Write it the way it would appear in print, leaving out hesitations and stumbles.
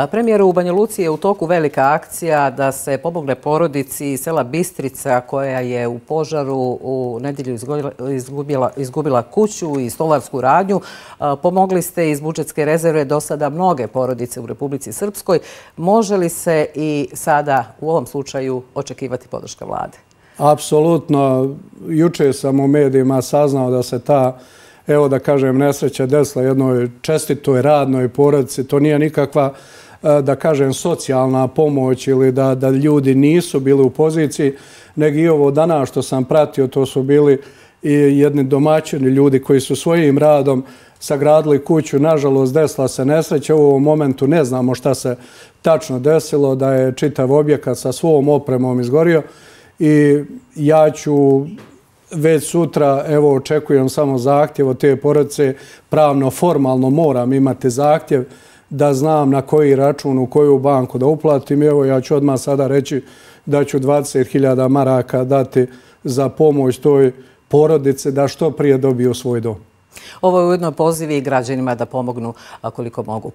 Premijeru, u Banja Luci je u toku velika akcija da se pomogne porodici iz sela Bistrica koja je u požaru u nedjelju izgubila kuću i stolarsku radnju. Pomogli ste iz budžetske rezerve do sada mnoge porodice u Republici Srpskoj. Može li se i sada u ovom slučaju očekivati podrška vlade? Apsolutno. Juče sam u medijima saznao da se ta, evo da kažem, nesreća desila jednoj čestitoj radnoj porodici. To nije nikakva, da kažem, socijalna pomoć ili da ljudi nisu bili u poziciji, nego i ovo danas što sam pratio, to su bili i jedni domaćini ljudi koji su svojim radom sagradili kuću. Nažalost, desila se nesreća. U ovom momentu ne znamo šta se tačno desilo, da je čitav objekat sa svom opremom izgorio. I ja ću već sutra, evo, očekujem samo zahtjev od te porodice, pravno, formalno moram imati zahtjev da znam na koji račun, u koju banku da uplatim. Evo, ja ću odmah sada reći da ću 20.000 maraka dati za pomoć toj porodici da što prije dobiju svoj dom. Ovo je ujedno poziv i građanima da pomognu koliko mogu.